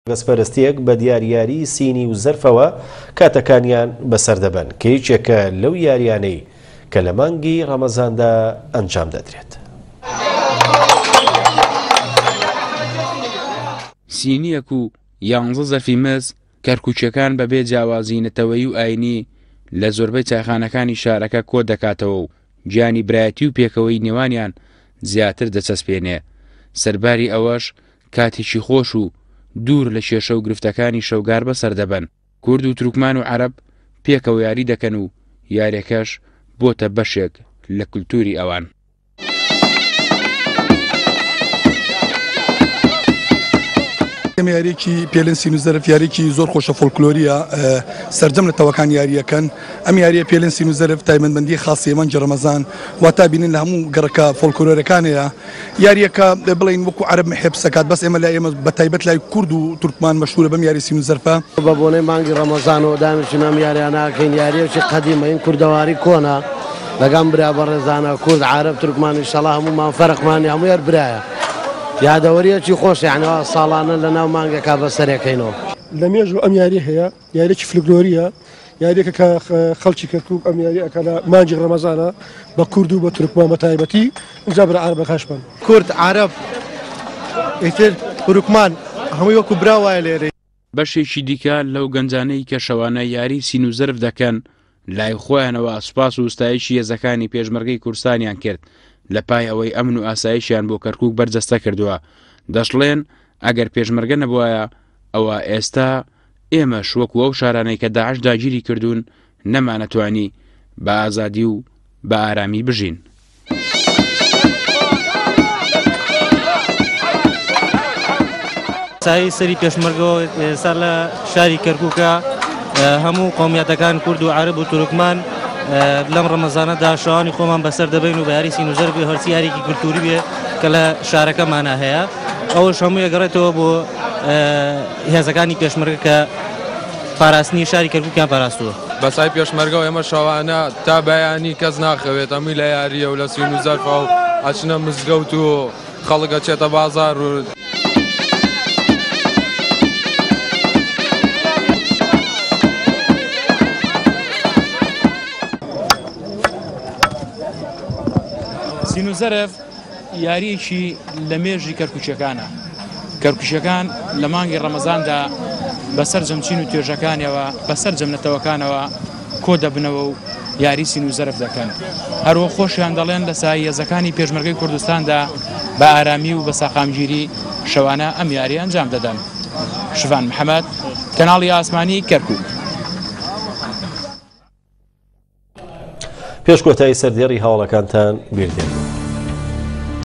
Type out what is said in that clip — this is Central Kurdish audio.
ڕەگەزپەرستییەک بە دیار یاریی سینی و زەرفەوە کاتەکانیان بەسەر دەبەن، کە یەکێکە لەو یارییانەی کە لە مانگی ڕەمەزاندا ئەنجام دەدرێت. سینییەک و یانزە زەرفی مس، کەرکوکییەکان بەبێ جیاوازیی نەتەوەیی و ئایینی لە زۆربەی چایخانەکانی شارەکە کۆدەکاتەوە و گیانی برایەتی و پێکەوەیی نێوانیان زیاتر دەچەسپێنێ. سەرباری ئەوەش کاتێکی خۆش و دوور لە کێشە و گرفتەکانی شەوگار بەسەر دەبەن. کورد و تورکمان و عەرەب پێکەوە یاری دەکەن و یاریەکەش بۆتە بەشێک لە کولتوری ئەوان. ئەم یاریەکی پێلن سین و زەرف یاریەکی زۆر خۆشە فۆلکلۆریە سەرجەم نەتەوەکان یاریەکەن ئەم یاریە پێلن سین و زەرف تایبەتمەندی خاصی مانگی ڕەمەزان واتا بینن لە هەموو گەڕەکە فۆلکلۆرەکانەیە یاریەکە بڵێین وەکو عەرەب محێ پسەکات بەس ئێمە لای ئێمە بە تایبەت لای کورد و تورکمان مەشهورە بەم یاری سین و زەرفە. بە بۆنەی مانگی ڕەمەزانەوە دانیشتین ئەم یاریانە ئەکەین یاریەکی قەدیمە این کوردەواری کۆنە لەگەم برا بەڕێزانە کورد عەرەب تورکمان ئیشەڵا هەموومان فەرقمان نیە هەموو هەر برایە یادەوەریەکی خۆشە یانی وا ساڵانە لەناو مانگێکا بەسەرێکەینەوە. لە مێژوو ئەم یاریە هەیە یاریەکی فلکلۆریە یاریەکە کە خەڵکی کەرکوک ئەم یاری ئەکا لە مانگی ڕەمەزانە بە کورد و بە تورکمان بە تایبەتی ئینجا برا عەرەبەکاشمان. کورد عەرەب ئیتر تورکمان هەمووی وەکو برا وایە لێرەی. بەشێکی دیکە لەو گەنجانەی کە شەوانە یاری سین و زەرف دەکەن لای خۆیانەوە سوپاس و ستایشی هێزەکانی پێشمەرگەی کوردستانیان کرد لە پای ئەوەی ئەمن و ئاسایشیان بۆ کەرکوک بەرجەستە کردووە دەشڵێن ئەگەر پێشمەرگە نەبوایە ئەوە ئێستا ئێمەش وەکو ئەو شارانەی کە داعش داگیری کردوون نەمانەتوانی بە ئازادی و بە ئارامی بژین. سایەی سەری پێشمەرگەوە ئێستا لە شاری کەرکووکە هەموو قومیاتەکان کورد و عەرەب و تورکمان لەم ڕەمەزانەدا شەوانی خۆمان بەسەر دەبین و بە یاری سینوزەر بێ هەرچی یاریکی کولتوری بێ کە لە شارەکەمانە هەیە ئەوەش هەموو یەگەڕێتەوە بۆ هێزەکانی پێشمەرگە کە پاراستنی شاری کەرکوکیان پاراستووە. بە سای پێشمەرگەوە ئێمە شەوانە تا بەیانی کەس ناخەوێت هەمووی لە یارییە و لە سین و زەرفە و ئەچنە مزگەوت و خەڵک ئەچێتە بازاڕ و. سین و زەرف یارییەکی لە مێژی کەرکوکیەکانە، کەرکوکیەکان لە مانگی ڕەمەزاندا بە سەرجەم چین و توێژەکانیەوە بە سەرجەم نەتەوەکانەوە کۆ دەبنەوە و یاری سین و زەرف دەکەن. هەروەک خۆشیان دەڵێن لە سایەی هێزەکانی پێشمەرگەی کوردستاندا بە ئارامی و بە ساقامگیری شەوانە ئەم یاریە ئەنجام دەدەن. شڤان محەمەد، کەناڵی ئاسمانی کەرکوک. پێش کۆتایی سەردێڕی هەواڵەکانتان بیر دێنم.